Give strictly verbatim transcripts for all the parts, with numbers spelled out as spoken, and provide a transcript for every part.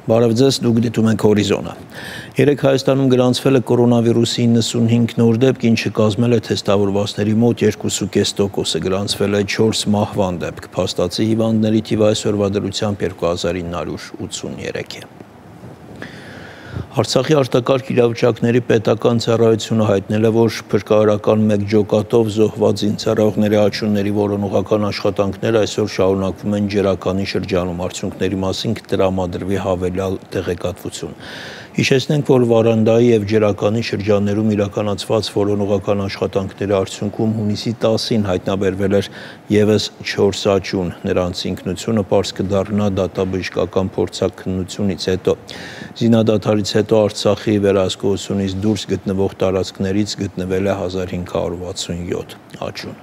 Բարև ձեզ, դուք դիտում եք Հորիզոնը։ Երեկ Հայաստանում գրանցվել է կորոնավիրուսի իննսունհինգ նոր դեպք, ինչը կազմել է թեստավորվածների մոտ երկու կόμμα պինգ տոկոսը, գրանցվել է չորս մահվան դեպք, փաստացի հիվանդների թիվը այսօրվա դրությամբ երկու հազար ինը հարյուր ութսուներեք է։ Արցախի արտակարգ իրավիճակների պետական ծառայությունը հայտնել է, որ փրկարարական մեկ ջոկատով զոհված զինծառայողների աչյունների որոնողական աշխատանքները այսօր շարունակվում են Ջրականի շրջանում, արդյունքների մասին կտրամադրվի հավելյալ տեղեկատվություն։ Հիշեցնենք, որ Վարանդայի և Ջրականի շրջաններում իրականացված որոնողական աշխատանքների արդյունքում հունիսի տասին հայտնաբերվել էր ևս չորս աչյուն, նրանց ինքնությունը պարզ կդառնա դատաբժշկական փորձաքննությունից հետո։ Զինադադարից հետո Արցախի վերահսկողությունից դուրս գտնվող տարածքներից գտնվել է հազար հինգ հարյուր վաթսունյոթ աչյուն։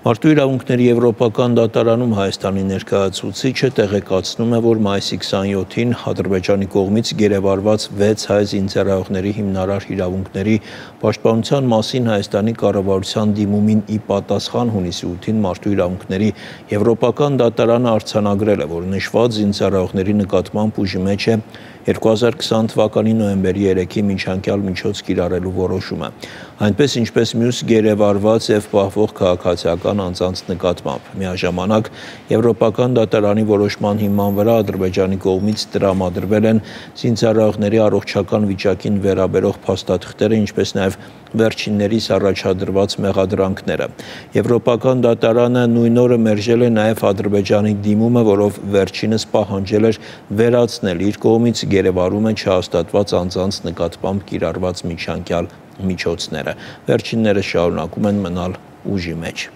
Մարդու իրավունքների եվրոպական դատարանում Հայաստանի ներկայացուցիչը տեղեկացնում է, որ մայիսի քսանյոթին Ադրբեջանի կողմից գերեվարված վեց հայ զինծառայողների հիմնարար իրավունքների պաշտպանության մասին Հայաստանի կառավարության դիմումին ի պատասխան հունիսի ութին Մարդու իրավունքների եվրոպական դատարանը արձանագրել է, որ նշված զինծառայողների նկատմամբ ուժի մեջ է երկու հազար քսան թվականի նոյեմբերի երեքի միջանկյալ միջոց կիրառելու որոշումը, այնպես ինչպես մյուս գերեվարված և պահվող քաղաքացիական անձանց նկատմամբ։ Միաժամանակ եվրոպական դատարանի որոշման հիման վրա Ադրբեջանի կողմից տրամադրվել են զինծառայողների առողջական վիճակին վերաբերող փաստաթղթերը, ինչպես նաև վերջիններիս առաջադրված մեղադրանքները։ Եվրոպական դատարանը նույն օրը մերժել է նաև Ադրբեջանի դիմումը, որով վերջինս պահանջել էր վերացնել իր կողմից գերեվարումը չհաստատված անձանց նկատմամբ կիրառված միջանկյալ միջոցները։ Վերջինները շարունակում են մնալ ուժի մեջ։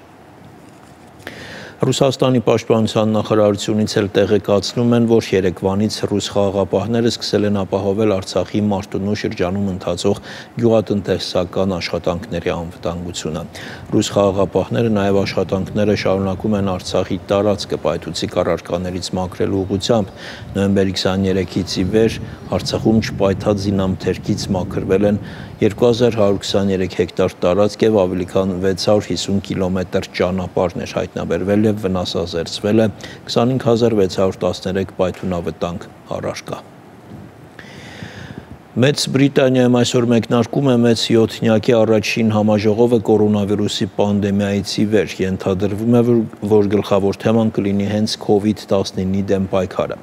Ռուսաստանի պաշտպանության նախարարությունից էլ տեղեկացնում են, որ երեկվանից ռուս խաղաղապահները սկսել են ապահովել Արցախի Մարտունու շրջանում ընթացող գյուղատնտեսական աշխատանքների անվտանգությունը։ Ռուս խաղաղապահները նաև աշխատանքները շարունակում են Արցախի տարածքը պայթուցիկ առարկաներից մաքրելու ուղղությամբ։ Նոյեմբերի քսաներեքից ի վեր Արցախում չպայթած զինամթերքից մաքրվել են երկու հազար հարյուր քսաներեք հեկտար տարածք և ավելի քան վեց հարյուր հիսուն կիլոմետր ճանապարհներ, հայտնաբերվել և վնասազերծվել է քսանհինգ հազար վեց հարյուր տասներեք պայթյունավտանգ առարկա։ Մեծ Բրիտանիայում այսօր մեկնարկում է մեծ յոթնյակի առաջին համաժողովը կորոնավիրուսի պանդեմիայից ի վեր։ Ենթադրվում է, որ գլխավոր թեման կլինի հենց քովիդ տասնինի դեմ պայքարը։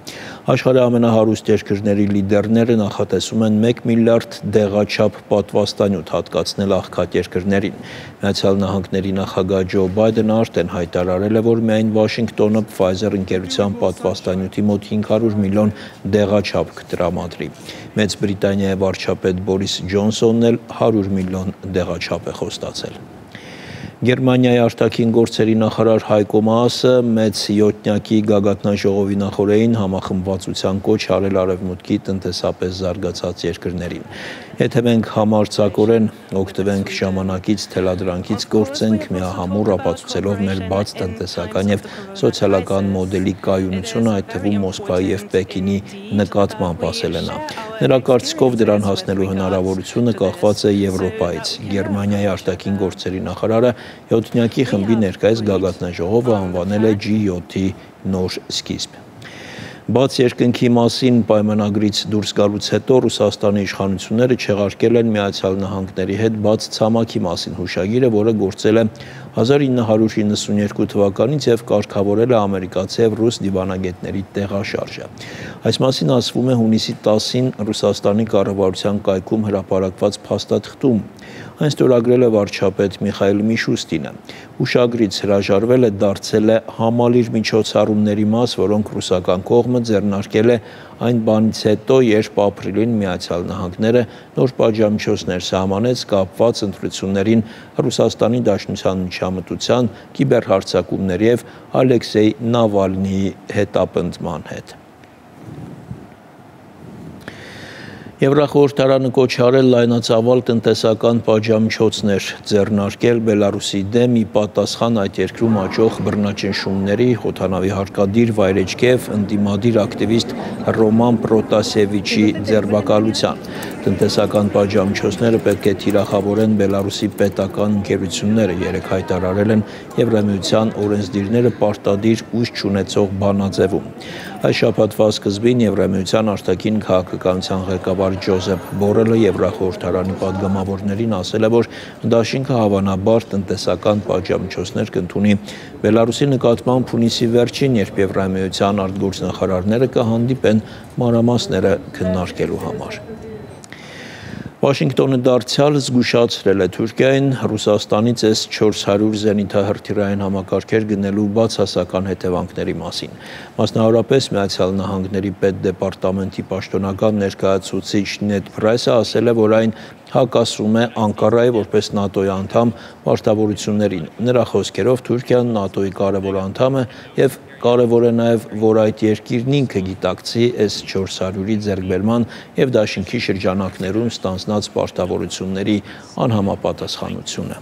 Աշխարհի ամենահարուստ երկրների լիդերները նախատեսում են մեկ միլիարդ դեղաչափ պատվաստանյութ հատկացնել աղքատ երկրներին։ Միացյալ Նահանգների նախագահ Ջո Բայդենը արդեն հայտարարել է, որ միայն Վաշինգտոնը Pfizer ընկերության պատվաստանյութի մոտ հինգ հարյուր միլիոն դեղաչափ կտրամադրի։ Մեծ Բրիտանիայի վարչապետ Բորիս Ջոնսոնն էլ հարյուր միլիոն դեղաչափ է խոստացել։ Գերմանիայի արտաքին գործերի նախարար Հայկո Մաասը մեծ յոթնյակի գագաթնաժողովի նախօրեին համախմբվածության կոչ արել Արևմուտքի տնտեսապես զարգացած երկրներին։ Եթե մենք համարձակորեն օգտվենք ժամանակից, թելադրանքից գործենք միահամուռ, ապացուցելով մեր բաց տնտեսական և սոցիալական մոդելի կայունությունը, այդ թվում Մոսկվայի և Պեկինի նկատմամբ, ասել է նա։ Նրա կարծիքով դրան հասնելու հնարավորությունը կախված է Եվրոպայից։ Գերմանիայի արտաքին գործերի նախարարը յոթնյակի խմբի ներկայիս գագաթնաժողովը անվանել է ջի յոթի նոր սկիզբ։ Բաց երկնքի մասին պայմանագրից դուրս գալուց հետո Ռուսաստանի իշխանությունները չեղարկել են Միացյալ Նահանգների հետ բաց ցամաքի մասին հուշագիրը, որը գործել է հազար ինը հարյուր իննսունյերկու թվականից և կարգավորել է ամերիկացի և ռուս դիվանագետների տեղաշարժը։ Այս մասին ասվում է հունիսի տասին Ռուսաստանի կառավարության կայքում հրապարակված փաստաթղթում։ Այն ստորագրել է վարչապետ Միխայիլ Միշուստինը։ Հուշագրից հրաժարվելը դարձել է համալիր միջոցառումների մաս, որոնք ռուսական կողմը ձեռնարկել է այն բանից հետո, երբ ապրիլին Միացյալ Նահանգները նոր պատժամիջոցներ սահմանեց կապված ընտրություններին Ռուսաստանի Դաշնության միջամտության, կիբերհարձակումների և Ալեքսեյ Նավալնիի հետապնդման հետ։ Եվրախորհրդարանը կոչ արել լայնածավալ տնտեսական պատժամիջոցներ ձեռնարկել Բելարուսի դեմ ի պատասխան այդ երկրում աճող բռնաճնշումների, օդանավի հարկադիր վայրեջքի և ընդդիմադիր ակտիվիստ Ռոման Պրոտասևիչի ձերբակալության։ Տնտեսական պատժամիջոցները պետք է թիրախավորեն Բելարուսի պետական ընկերությունները, երեկ հայտարարել են Եվրամիության օրենսդիրները պարտադիր ուժ չունեցող բանաձևում։ Այս շաբաթվա սկզբին Եվրամիության արտաքին քաղաքականության ղեկավար Ջոզեփ Բորելը Եվրախորհրդարանի պատգամավորներին ասել է, որ դաշինքը հավանաբար տնտեսական պատժամիջոցներ կընդունի Բելարուսի նկատմամբ հունիսի վերջին, երբ Եվրամիության արտգործնախարարները կհանդիպեն մանրամասները քննարկելու համար։ Վաշինգտոնը դարձյալ զգուշացրել է Թուրքիային Ռուսաստանից էս չորս հարյուր զենիթահրթիռային համակարգեր գնելու բացասական հետևանքների մասին։ Մասնավորապես Միացյալ Նահանգների պետդեպարտամենտի պաշտոնական ներկայացուցիչ Նեդ Փրայսը ասել է, որ այն հակասում է Անկարայի որպես ՆԱՏՕ-ի անդամ պարտավորություններին։ Նրա խոսքերով Թուրքիան ՆԱՏՕ-ի կարևոր անդամ է եւ կարևոր է նաեւ, որ այդ երկիրն ինքը գիտակցի էս չորս հարյուրի ձեռքբերման եւ դաշինքի շրջանակներում ստանձնած պարտավորությունների անհամապատասխանությունը։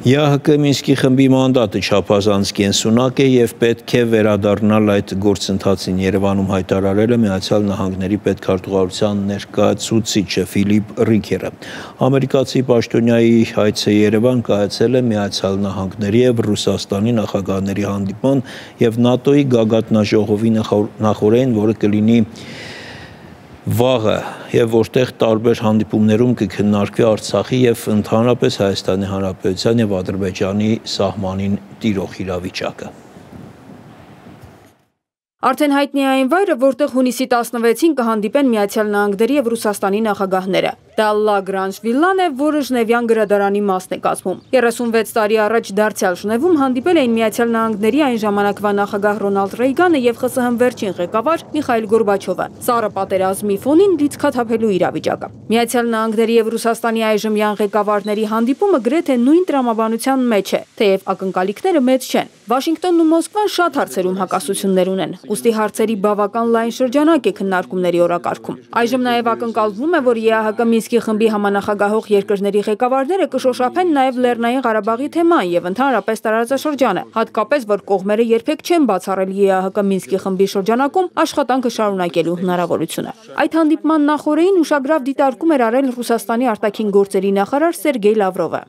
ԵԱՀԿ Մինսկի խմբի մանդատը չափազանց կենսունակ է եւ պետք է վերադառնալ այդ գործընթացին, Երևանում հայտարարել է Միացյալ Նահանգների պետքարտուղարության ներկայացուցիչը Ֆիլիպ Ռիքերը։ Ամերիկացի պաշտոնյայի հայցը Երևան կայացել է Միացյալ Նահանգների եւ Ռուսաստանի նախագահների հանդիպման եւ ՆԱՏՕ-ի գագաթնաժողովի նախօրեին, որը կլինի վաղը եւ որտեղ տարբեր հանդիպումներում կքննարկվի Արցախի եւ ընդհանրապես Հայաստանի Հանրապետության եւ Ադրբեջանի սահմանին տիրող իրավիճակը։ Արդեն հայտնի է այն վայրը, որտեղ հունիսի տասնվեցին կհանդիպեն Միացյալ Նահանգների եւ Ռուսաստանի նախագահները։ Դա Լա Գրանժ վիլլան է, որը Ժնևյան գրադարանի մասն է կազմում։ երեսունվեց տարի առաջ դարձյալ Ժնևում հանդիպել էին Միացյալ Նահանգների այն ժամանակվա նախագահ Ռոնալդ Ռեյգանը եւ ԽՍՀՄ վերջին ղեկավար Միխայիլ Գորբաչովը։ Սառը պատերազմի ֆոնին լիցքաթափելու իրավիճակը։ Միացյալ Նահանգների եւ Ռուսաստանի այժմյան ղեկավարների հանդիպումը գրեթե նույն տրամաբանության մեջ է, թեև ակնկալիքները մեծ չեն։ Վաշինգտոնն ու Մոսկվան շատ հարցերում հակասություններ ունեն, ուստի հարցերի բավական լայն շրջանակ է քննարկումների օրակարգում։ Այժմ նաև ակնկալվում է, որ ԵԱՀԿ Մինսկի խմբի համանախագահող երկրների ղեկավարները կշոշափեն նաև Լեռնային Ղարաբաղի թեման եւ ընդհանրապես տարածաշրջանը, հատկապես որ կողմերը երբեք չեն բացառել ԵԱՀԿ Մինսկի խմբի շրջանակում աշխատանքը շարունակելու հնարավորությունը։ Այդ հանդիպման նախօրեին ուշագրավ դիտարկում էր արել Ռուսաստանի արտաքին գործերի նախարար Սերգեյ Լավրովը։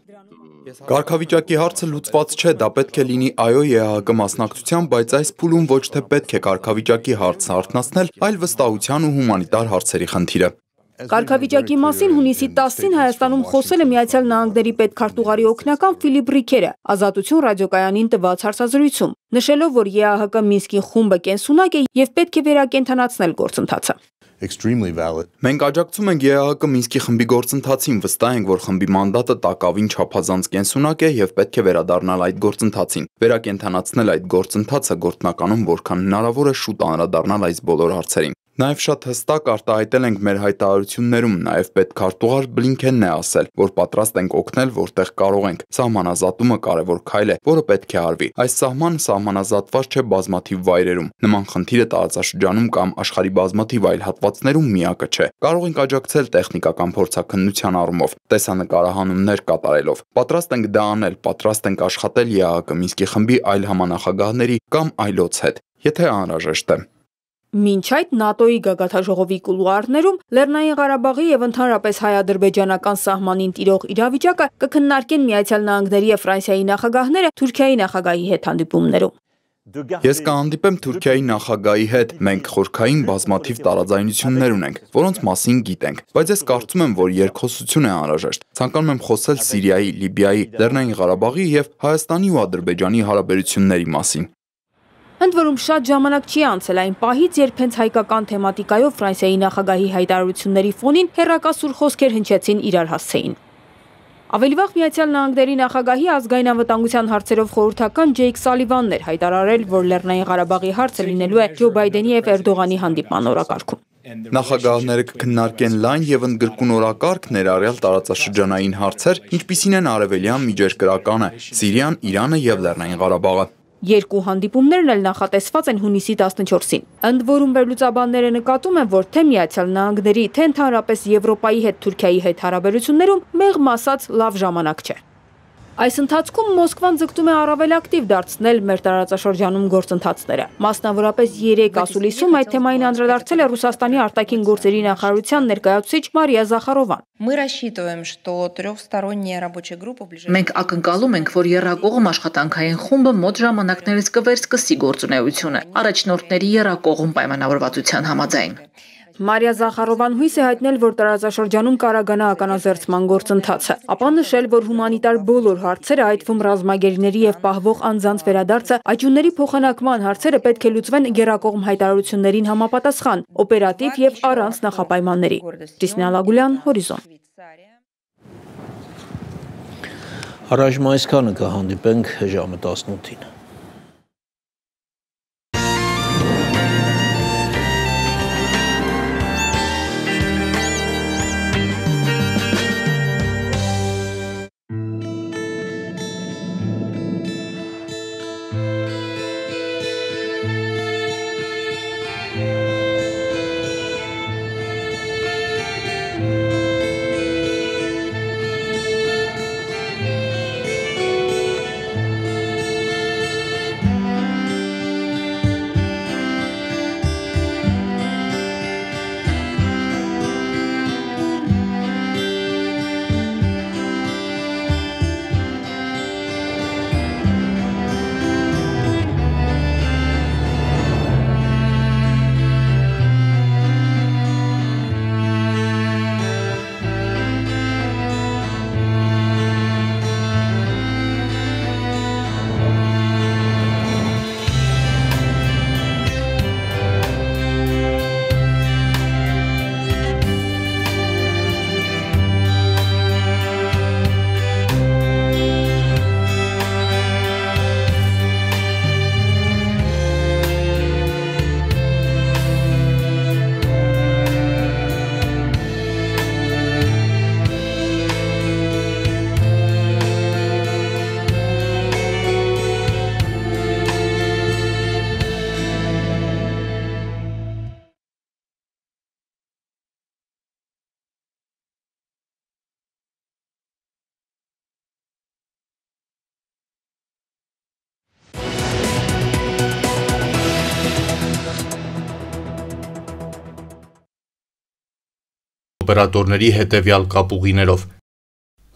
Կարգավիճակի հարցը լուծված չէ, դա պետք է լինի այո ԵԱՀԿ մասնակցության, բայց այս փուլում ոչ թե պետք է կարգավիճակի հարցը արթնացնել, այլ վստահության ու հումանիտար հարցերի խնդիրը։ Կարգավիճակի մասին հունիսի տասին Հայաստանում խոսել է Միացյալ Նահանգների պետքարտուղարի օգնական Ֆիլիպ Ռիքերը Ազատություն ռադիոկայանին տված հարցազրույցում, նշելով, որ ԵԱՀԿ Մինսկի խումբը կենսունակ է եւ պետք է վերակենդանացնել գործընթացը։ Մենք աջակցում ենք ԵԱՀԿ Մինսկի խմբի գործընթացին, վստահ ենք, որ խմբի մանդատը տակավին չափազանց կենսունակ է եւ պետք է վերադառնալ այդ գործընթացին, վերակենդանացնել այդ գործընթացը գործնականում որքան հնարավոր է շուտ անդրադառնալ այս բոլոր հարցերին։ Նաև շատ հստակ արտահայտել ենք մեր հայտարարություններում, նաև պետքարտուղար Բլինքենն է ասել, որ պատրաստ ենք օգնել, որտեղ կարող ենք։ Սահմանազատումը կարևոր քայլ է, որը պետք է արվի։ Այս սահմանը սահմանազատված չէ բազմաթիվ վայրերում։ Նման խնդիրը տարածաշրջանում կամ աշխարհի բազմաթիվ այլ հատվածներում միակը չէ։ Կարող ենք աջակցել տեխնիկական փորձաքննության առումով, տեսանկարահանումներ կատարելով։ Պատրաստ ենք դա անել, պատրաստ ենք աշխատել ԵԱՀԿ Մինսկի խմբի այլ համանախագահների կամ այլոց հետ, եթե անհրաժեշտ է։ Մինչ այդ ՆԱՏՕ-ի գագաթնաժողովի կուլուարներում Լեռնային Ղարաբաղի եւ ընդհանրապես հայ-ադրբեջանական սահմանին տիրող իրավիճակը կքննարկեն Միացյալ Նահանգների եւ Ֆրանսիայի նախագահները Թուրքիայի նախագահի հետ հանդիպումներում։ Ես կհանդիպեմ Թուրքիայի նախագահի հետ, մենք խորքային բազմաթիվ տարաձայնություններ ունենք, որոնց մասին գիտենք, բայց ես կարծում եմ, որ երկխոսություն է անհրաժեշտ։ Ցանկանում եմ խոսել Սիրիայի, Լիբիայի, Լեռնային Ղարաբաղի եւ Հայաստանի ու Ադրբեջանի հարաբերությունների մասին։ Ընդ որում շատ ժամանակ չի անցել այն պահից, երբ հենց հայկական թեմատիկայով Ֆրանսիայի նախագահի հայտարարությունների ֆոնին հեռակասուր խոսքեր հնչեցին իրար հասցեին։ Ավելի վաղ Միացյալ Նահանգների նախագահի ազգային անվտանգության հարցերով խորհրդական Ջեյք Սալիվանն էր հայտարարել, որ Լեռնային Ղարաբաղի հարցը լինելու է Ջո Բայդենի եւ Էրդողանի հանդիպման օրակարգում։ Նախագահները կքննարկեն լայն եւ ընդգրկուն օրակարգ, ներառյալ տարածաշրջանային հարցեր, ինչպիսին են Արևելյան Միջերկրականը, Սիրիան, Իրանը եւ Լեռնային Ղարաբաղը։ Երկու հանդիպումներն էլ նախատեսված են հունիսի տասնչորսին։ Ընդ որում վերլուծաբանները նկատում են, որ թե Միացյալ Նահանգների, թե ընդհանրապես Եվրոպայի հետ Թուրքիայի հետ հարաբերություններում մեղմ ասած լավ ժամանակ չէ։ Այս ընթացքում Մոսկվան ձգտում է առավել ակտիվ դարձնել մեր տարածաշրջանում գործընթացները։ Մասնավորապես երեք ասուլիսում այդ թեմային անդրադարձել է Ռուսաստանի արտաքին գործերի նախարարության ներկայացուցիչ Մարիա Զախարովան։ Մենք ակնկալում ենք, որ եռակողմ աշխատանքային խումբը մոտ ժամանակներից կվերսկսի գործունեությունը, առաջնորդների եռակողմ պայմանավորվածության համաձայն։ Մարիա Զախարովան հույս է հայտնել, որ տարածաշրջանում կարագանա ականազերծման գործընթացը, ապա նշել, որ հումանիտար բոլոր հարցերը, այդ թվում ռազմագերիների եւ պահվող անձանց վերադարձը, աճյունների փոխանակման հարցերը պետք է լուծվեն գերակողմ հայտարարություններին համապատասխան, օպերատիվ եւ առանց նախապայմանների։ Կրիստինա Լագուլյան, Հորիզոն։ Առայժմ այսքանը կհանդիպենք ժամը տասնութին։ Օպերատորների հետևյալ կապուղիներով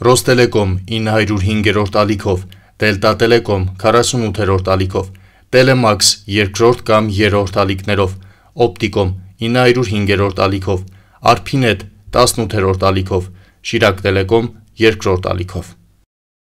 Ռոստելեկոմ ինը հարյուր հինգերորդ ալիքով, Դելտա Տելեկոմ քառասունութերորդ ալիքով, Տելեմաքս երկրորդ կամ երրորդ ալիքներով, Օպտիկոմ ինը հարյուր հինգերորդ ալիքով, Արփինետ տասնութերորդ ալիքով, Շիրակ Տելեկոմ երկրորդ ալիքով։